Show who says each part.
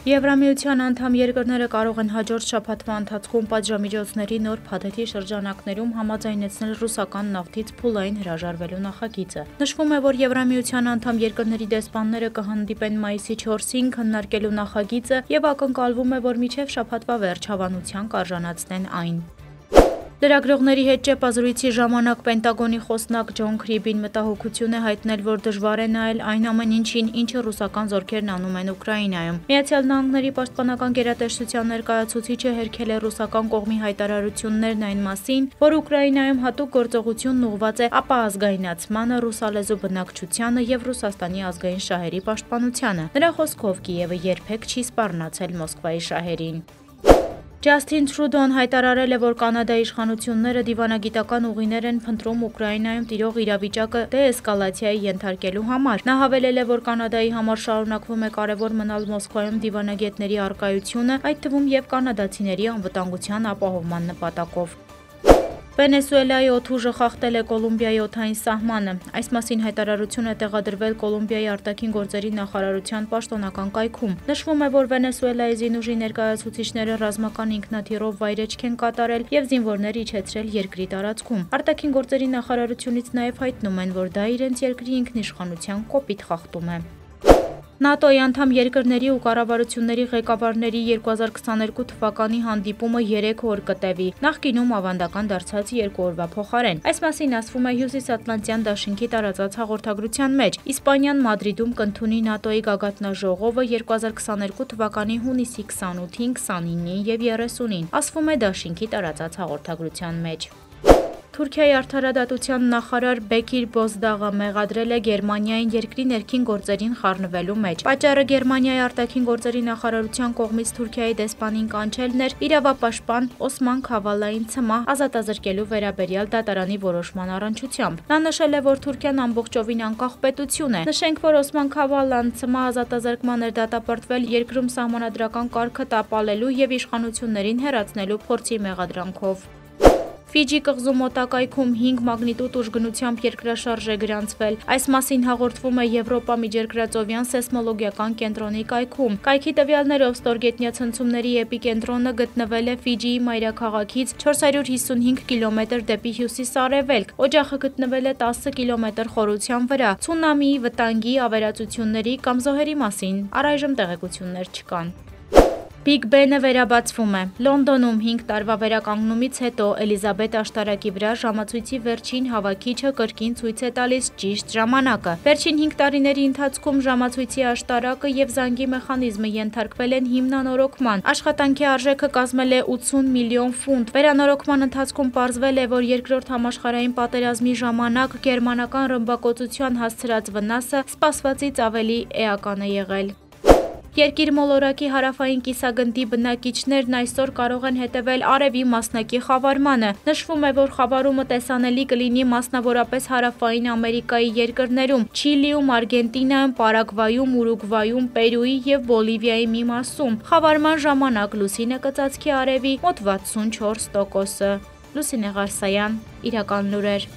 Speaker 1: Եվրամիության անդամ երկրները կարող են հաջորդ շաբաթվա ընթացքում պատժամիջոցների նոր փաթեթի շրջանակներում համաձայնեցնել ռուսական նավթից փուլային հրաժարվելու նախագիծը։ Նշվում է, որ Եվրամիության անդամ երկրների դեսպանները կհանդիպեն մայիսի 4-ին քննարկելու նախագիծը եւ ակնկալվում է, որ մինչեւ շաբաթվա վերջ հավանության կարժանացնեն այն։ Լրագրողների հետ ճեպազրույցի ժամանակ Պենտագոնի խոսնակ Ջոն Քրիբին մտահոգություն է հայտնել, որ դժվար է նայել այն ամեն ինչին, ինչը ռուսական զորքերն անում են Ուկրաինայում։ Միացյալ Նահանգների պաշտպանական գերատեսչության ներկայացուցիչը հերքել է ռուսական կողմի հայտարարություններն այն մասին, որ Ուկրաինայում հատուկ գործողությունն ուղղված է ապահազգայնացմանը, ռուսալեզու բնակչությանը եւ Ռուսաստանի ազգային շահերի պաշտպանությանը։ Նրա խոսքով Կիևը երբեք չի սպառնացել Մոսկվայի շահերին։ Ջասթին Թրուդոն հայտարարել է, որ Կանադայի իշխանությունները դիվանագիտական ուղիներ են փնտրում Ուկրաինայում տիրող իրավիճակը դեէսկալացիայի ենթարկելու համար։ Նա հավելել է, որ Կանադայի համար շարունակվում է կարևոր մնալ Մոսկվայում դիվանագետների առկայությունը, այդ թվում եւ կանադացիների անվտանգության ապահովման նպատակով։ Վենեսուելայի օդուժը խախտել է Կոլումբիայի օդային սահմանը։ Այս մասին հայտարարություն է տեղադրվել Կոլումբիայի արտաքին գործերի նախարարության պաշտոնական կայքում։ Նշվում է, որ Վենեսուելայի զինուժի ներկայացուցիչները ռազմական ինքնաթիռով վայրէջք են կատարել եւ զինվորներ իջեցրել երկրի տարածքում։ Արտաքին գործերի նախարարությունից նաեւ հայտնում են, որ դա իրենց երկրի ինքնիշխանության կոպիտ խախտում է։ ՆԱՏՕ-ի անդամ երկրների ու կառավարությունների ղեկավարների 2022 թվականի հանդիպումը 3 օր կտևի, նախկինում ավանդական դարձած 2 օրվա փոխարեն։ Այս մասին ասվում է Հյուսիսատլանտյան դաշինքի տարածած հաղորդագրության մեջ։ Իսպանիան Մադրիդում կընդունի ՆԱՏՕ-ի գագաթնաժողովը 2022 թվականի հունիսի 28-ին, 29-ին եւ 30-ին, ասվում է դաշինքի տարածած հաղորդագրության մեջ։ Թուրքիայի արդարադատության նախարար Բեկիր Բոզդաղը մեղադրել է Գերմանիային երկրի ներքին գործերին խառնվելու մեջ։ Պատճառը Գերմանիայի արտաքին գործերի նախարարության կողմից Թուրքիայի դեսպանին կանչելն էր իրավապաշտպան Օսման Քավալային ցմահ ազատազրկելու վերաբերյալ դատարանի որոշման առնչությամբ։ Նա նշել է, որ Թուրքիան ամբողջովին անկախ պետություն է։ Նշենք, որ Օսման Քավալան ցմահ ազատազրկման էր դատապարտվել երկրում սահմանադրական կարգը տապալելու եւ իշխանություններին հեռացնելու փորձի մեղադրանքով։ Ֆիջի կղզու մոտակայքում 5 մագնիտուդ ուժգնությամբ երկրաշարժ է գրանցվել։ Այս մասին հաղորդվում է Եվրոպա միջերկրածովյան սեյսմոլոգիական կենտրոնի կայքում։ Կայքի տվյալներով ստորգետնյա ցնցումների էպիկենտրոնը գտնվել է Ֆիջիի մայրաքաղաքից 455 կիլոմետր դեպի հյուսիս-արևելք։ Օջախը գտնվել է 10 կիլոմետր խորության վրա։ Ցունամիի, վտանգի, ավերածությունների կամ զոհերի մասին առայժմ տեղեկություններ չկան։ Բիգ Բենը վերաբացվում է։ Լոնդոնում 5 տարվա վերականգնումից հետո Էլիզաբետ աշտարակի վրա ժամացույցի վերջին հավաքիչը կրկին ցույց է տալիս ճիշտ ժամանակը։ Վերջին 5 տարիների ընթացքում ժամացույցի աշտարակը եւ զանգի մեխանիզմը ենթարկվել են հիմնանորոգման։ Աշխատանքի արժեքը կազմել է 80 միլիոն ֆունտ։ Վերանորոգման ընթացքում պարզվել է, որ երկրորդ համաշխարհային պատերազմի ժամանակ գերմանական ռմբակոծության հասցրած վնասը սպասվածից ավելի էական է եղել։ Երկիր մոլորակի հարավային կիսագնդի բնակիչներն այսօր կարող են հետևել արևի մասնակի խավարմանը։ Նշվում է, որ խավարումը տեսանելի կլինի մասնավորապես հարավային Ամերիկայի երկրներում՝ Չիլիում, Արգենտինայում, Պարագվայում, Ուրուգվայում, Պերուի եւ Բոլիվիայի մի մասում։ Խավարման ժամանակ լուսինը կծածկի արևի մոտ 64%-ը։ Լուսինե Ղարսայան, Իրական լուրեր։